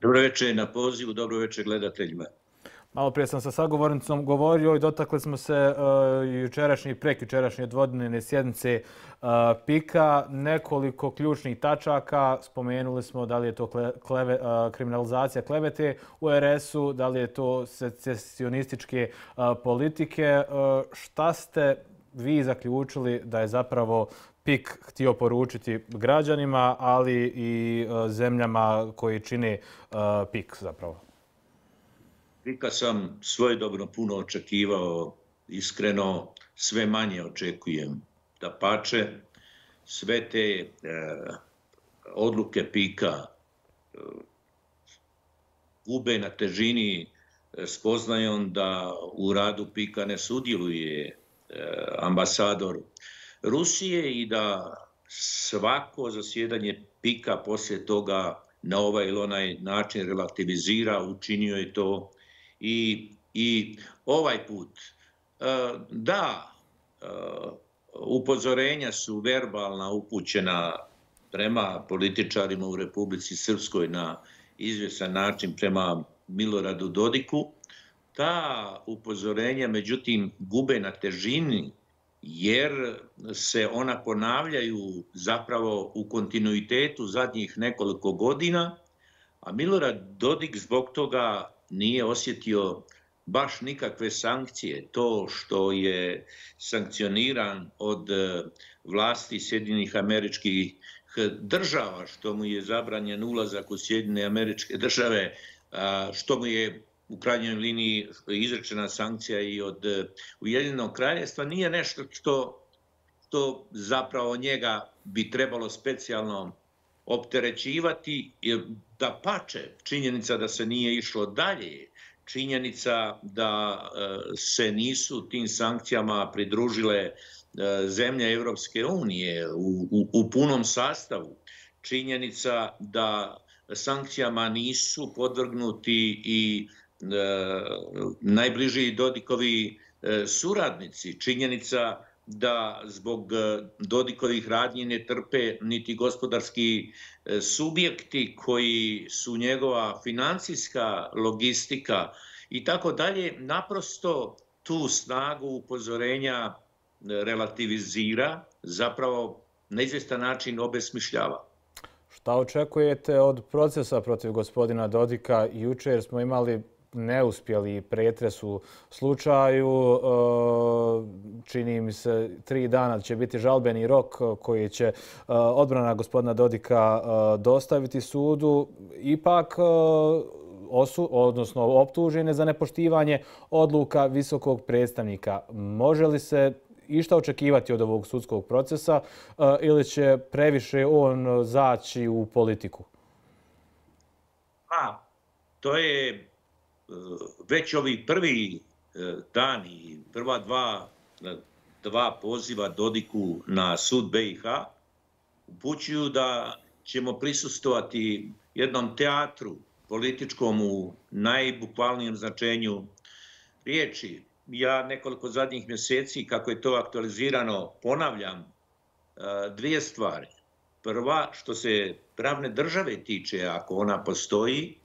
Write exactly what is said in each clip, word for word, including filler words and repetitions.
Dobro večer na pozivu, dobro večer gledateljima. Malo prije sam sa sagovornicom govorio i dotakli smo se uh, jučerašnje i prekjučerašnje dvodnevne sjednice uh, pika. Nekoliko ključnih tačaka, spomenuli smo da li je to kleve, uh, kriminalizacija klevete u er esu, da li je to secesionističke uh, politike. Uh, šta ste vi zaključili da je zapravo pik htio poručiti građanima, ali i uh, zemljama koji čine uh, pik zapravo? Pika sam svojedobno puno očekivao, iskreno sve manje očekujem. Dapače, sve te e, odluke pika e, gube na težini spoznajom da u radu pika ne sudjeluje e, ambasador Rusije i da svako zasjedanje pika poslije toga na ovaj ili onaj način relativizira, učinio je to I, i ovaj put. E, da, e, upozorenja su verbalna upućena prema političarima u Republici Srpskoj na izvjesan način prema Miloradu Dodiku. Ta upozorenja, međutim, gube na težini jer se ona ponavljaju zapravo u kontinuitetu zadnjih nekoliko godina, a Milorad Dodik zbog toga nije osjetio baš nikakve sankcije. To što je sankcioniran od vlasti Sjedinjenih Američkih Država, što mu je zabranjen ulazak u Sjedinjene Američke Države, što mu je u krajnjoj liniji izrečena sankcija i od Ujedinjenog Kraljevstva, nije nešto što, što zapravo njega bi trebalo specijalno opterećivati, da pače činjenica da se nije išlo dalje, činjenica da se nisu tim sankcijama pridružile zemlje Evropske unije u, u, u punom sastavu, činjenica da sankcijama nisu podvrgnuti i e, najbliži Dodikovi e, suradnici, činjenica da zbog Dodikovih radnji ne trpe niti gospodarski subjekti koji su njegova financijska logistika i tako dalje, naprosto tu snagu upozorenja relativizira, zapravo na izvjestan način obesmišljava. Šta očekujete od procesa protiv gospodina Dodika? Jučer smo imali neuspjeli pretres u slučaju. Čini mi se tri dana će biti žalbeni rok koji će odbrana gospodina Dodika dostaviti sudu. Ipak osu, odnosno optužen je za nepoštivanje odluka visokog predstavnika. Može li se išta očekivati od ovog sudskog procesa ili će previše on zaći u politiku? A, to je već ovi prvi dani, prva dva, dva poziva Dodiku na sud be i ha upućuju da ćemo prisustovati jednom teatru političkom u najbukvalnijem značenju riječi. Ja nekoliko zadnjih mjeseci, kako je to aktualizirano, ponavljam dvije stvari. Prva, što se pravne države tiče, ako ona postoji,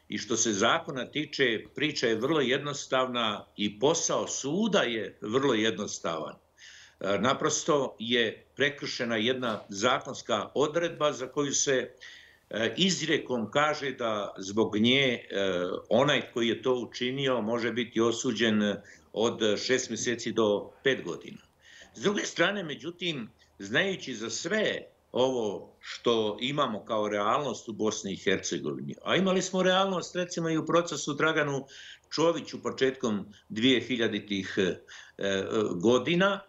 i što se zakona tiče, priča je vrlo jednostavna i posao suda je vrlo jednostavan. Naprosto je prekršena jedna zakonska odredba za koju se izrijekom kaže da zbog nje onaj koji je to učinio može biti osuđen od šest mjeseci do pet godina. S druge strane, međutim, znajući za sve ovo što imamo kao realnost u Bosni i Hercegovini, a imali smo realnost recimo i u procesu Draganu Čoviću početkom dvije hiljaditih godina,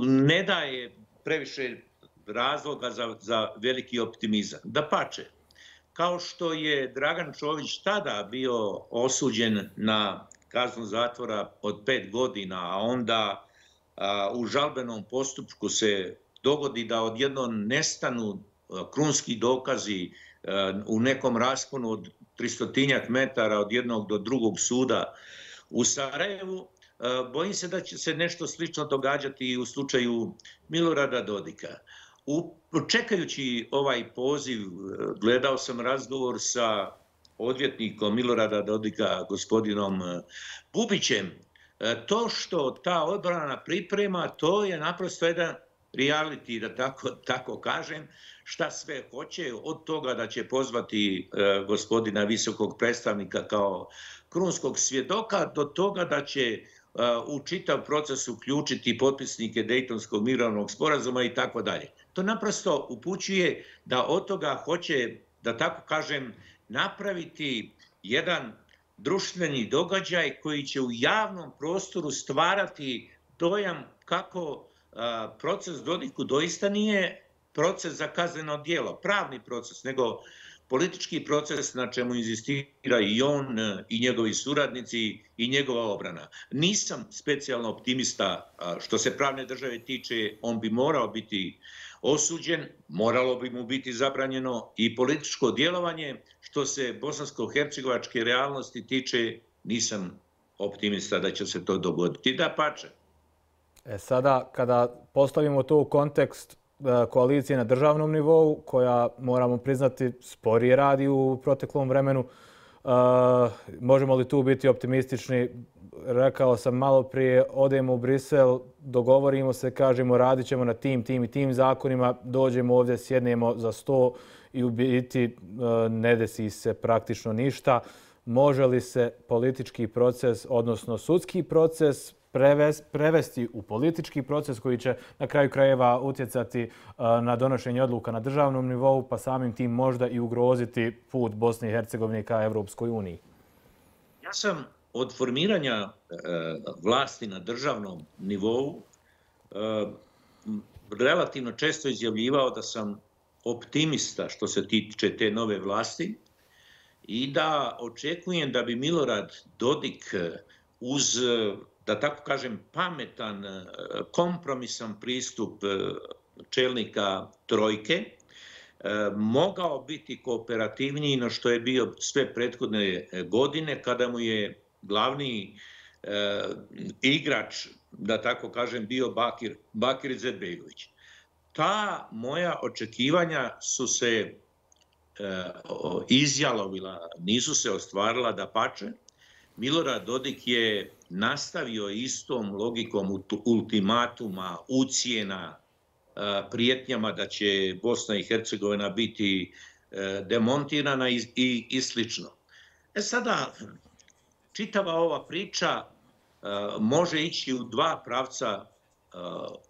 ne daje previše razloga za, za veliki optimizam. Dapače, kao što je Dragan Čović tada bio osuđen na kaznu zatvora od pet godina, a onda a, u žalbenom postupku se dogodi da odjednom nestanu krunski dokazi u nekom rasponu od tristotinjak metara od jednog do drugog suda u Sarajevu, bojim se da će se nešto slično događati i u slučaju Milorada Dodika. U, čekajući ovaj poziv, gledao sam razgovor sa odvjetnikom Milorada Dodika, gospodinom Bubićem. To što ta odbrana priprema, to je naprosto jedan reality, da tako, tako kažem, šta sve hoće, od toga da će pozvati e, gospodina visokog predstavnika kao krunskog svjedoka, do toga da će e, u čitav proces uključiti potpisnike Dejtonskog mirovnog sporazuma i tako dalje. To naprosto upućuje da od toga hoće, da tako kažem, napraviti jedan društveni događaj koji će u javnom prostoru stvarati dojam kako a, proces Dodiku doista nije proces za kazneno djelo, pravni proces, nego politički proces na čemu inzistira i on, i njegovi suradnici, i njegova obrana. Nisam specijalno optimista što se pravne države tiče, on bi morao biti osuđen, moralo bi mu biti zabranjeno i političko djelovanje. Što se bosansko-hercegovačke realnosti tiče, nisam optimista da će se to dogoditi. Da pače. E sada, kada postavimo to u kontekst koalicije na državnom nivou, koja, moramo priznati, sporije radi u proteklom vremenu, možemo li tu biti optimistični? Rekao sam malo prije, odemo u Brisel, dogovorimo se, kažemo radit ćemo na tim, tim i tim zakonima, dođemo ovdje, sjednemo za sto i u biti ne desi se praktično ništa. Može li se politički proces, odnosno sudski proces, prevesti u politički proces koji će na kraju krajeva utjecati na donošenje odluka na državnom nivou, pa samim tim možda i ugroziti put Bosne i Hercegovine ka Evropskoj uniji? Ja sam od formiranja vlasti na državnom nivou relativno često izjavljivao da sam optimista što se tiče te nove vlasti i da očekujem da bi Milorad Dodik uz, da tako kažem, pametan, kompromisan pristup čelnika trojke mogao biti kooperativniji no što je bio sve prethodne godine kada mu je glavni igrač, da tako kažem, bio Bakir, Bakir Izetbegović. Ta moja očekivanja su se e, izjalovila, nisu se ostvarila, da pače. Milorad Dodik je nastavio istom logikom ultimatuma, ucjena, e, prijetnjama da će Bosna i Hercegovina biti e, demontirana i, i, i slično. E sada, čitava ova priča e, može ići u dva pravca e,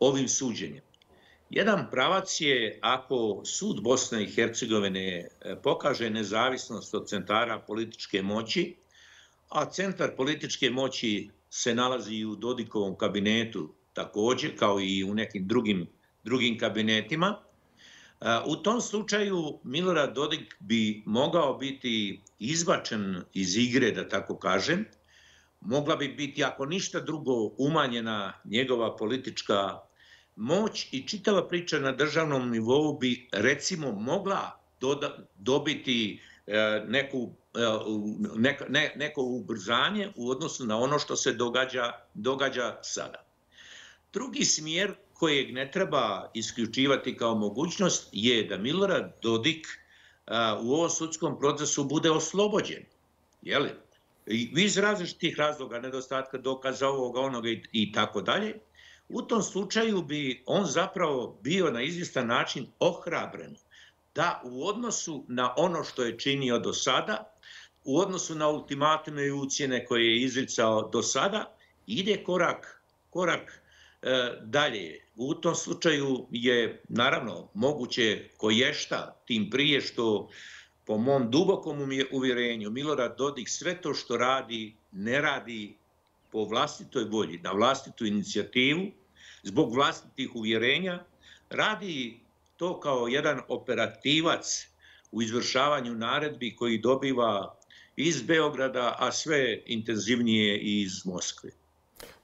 ovim suđenjem. Jedan pravac je ako sud Bosne i Hercegovine pokaže nezavisnost od centara političke moći, a centar političke moći se nalazi i u Dodikovom kabinetu također, kao i u nekim drugim, drugim kabinetima. U tom slučaju Milorad Dodik bi mogao biti izbačen iz igre, da tako kažem. Mogla bi biti, ako ništa drugo, umanjena njegova politička moć i čitava priča na državnom nivou bi, recimo, mogla doda, dobiti e, neku, e, neko, ne, neko ubrzanje u odnosu na ono što se događa, događa sada. Drugi smjer kojeg ne treba isključivati kao mogućnost je da Milorad Dodik a, u ovom sudskom procesu bude oslobođen. Jeli? I iz različitih razloga, nedostatka dokaza ovoga, onoga i, i tako dalje. U tom slučaju bi on zapravo bio na izvjestan način ohrabren da u odnosu na ono što je činio do sada, u odnosu na ultimatume i ucjene koje je izricao do sada, ide korak, korak e, dalje. U tom slučaju je naravno moguće koješta, tim prije što po mom dubokom uvjerenju Milorad Dodik sve to što radi ne radi po vlastitoj volji, na vlastitu inicijativu, zbog vlastitih uvjerenja, radi to kao jedan operativac u izvršavanju naredbi koji dobiva iz Beograda, a sve intenzivnije iz Moskve.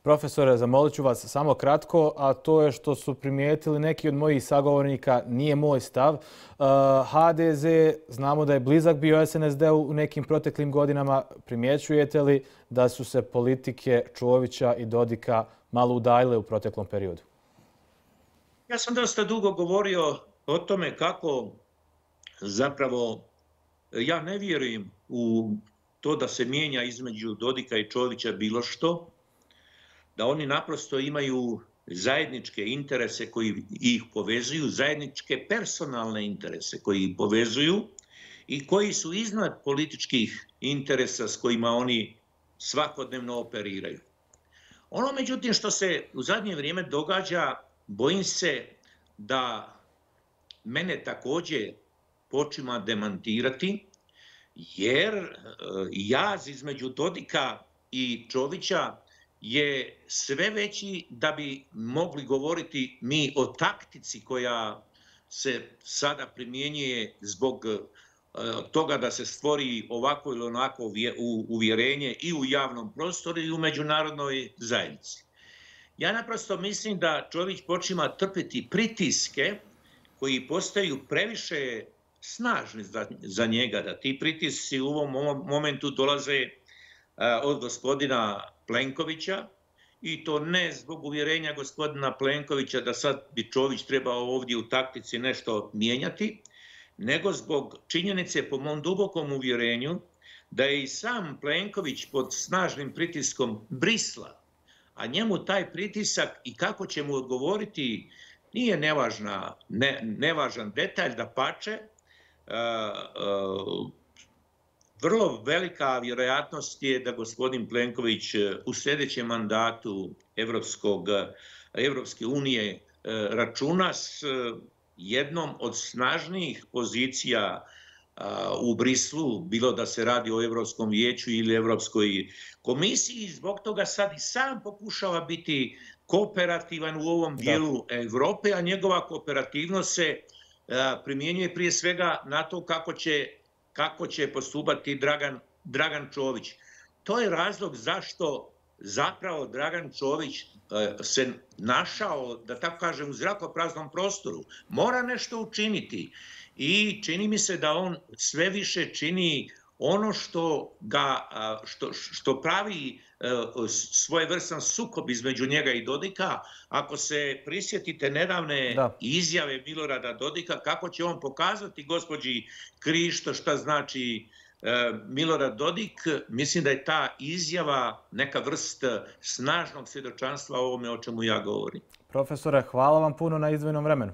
Profesore, zamolit ću vas samo kratko, a to je što su primijetili neki od mojih sagovornika, nije moj stav. H D Z, znamo da je blizak bio S N S D-u u nekim proteklim godinama. Primjećujete li da su se politike Čovića i Dodika malo udaljile u proteklom periodu? Ja sam dosta dugo govorio o tome kako zapravo ja ne vjerujem u to da se mijenja između Dodika i Čovića bilo što, da oni naprosto imaju zajedničke interese koji ih povezuju, zajedničke personalne interese koji ih povezuju i koji su iznad političkih interesa s kojima oni svakodnevno operiraju. Ono, međutim, što se u zadnje vrijeme događa, bojim se da mene također počima demantirati, jer jaz između Dodika i Čovića je sve veći da bi mogli govoriti mi o taktici koja se sada primjenjuje zbog toga da se stvori ovako ili onako uvjerenje i u javnom prostoru i u međunarodnoj zajednici. Ja naprosto mislim da Čović počima trpiti pritiske koji postaju previše snažni za njega, da ti pritisci u ovom momentu dolaze od gospodina Plenkovića, i to ne zbog uvjerenja gospodina Plenkovića da sad bi Čović trebao ovdje u taktici nešto mijenjati, nego zbog činjenice, po mom dubokom uvjerenju, da je i sam Plenković pod snažnim pritiskom Brisla, a njemu taj pritisak i kako će mu odgovoriti nije nevažna, ne, nevažan detalj, da pače, vrlo velika vjerojatnost je da gospodin Plenković u sljedećem mandatu Evropskog, Evropske unije računa s jednom od snažnijih pozicija u Brislu, bilo da se radi o Evropskom vijeću ili Evropskoj komisiji, zbog toga sad i sam pokušava biti kooperativan u ovom dijelu Evrope, a njegova kooperativnost se primjenjuje prije svega na to kako će, kako će postupati Dragan, Dragan Čović. To je razlog zašto zapravo Dragan Čović se našao, da tako kažem, u zrakopraznom prostoru. Mora nešto učiniti i čini mi se da on sve više čini ono što, ga, što, što pravi svojevrstan sukob između njega i Dodika. Ako se prisjetite nedavne da. izjave Milorada Dodika, kako će on pokazati gospođi Krišto šta znači Milorad Dodik, mislim da je ta izjava neka vrst snažnog svjedočanstva o ovome o čemu ja govorim. Profesore, hvala vam puno na izdvojenom vremenu.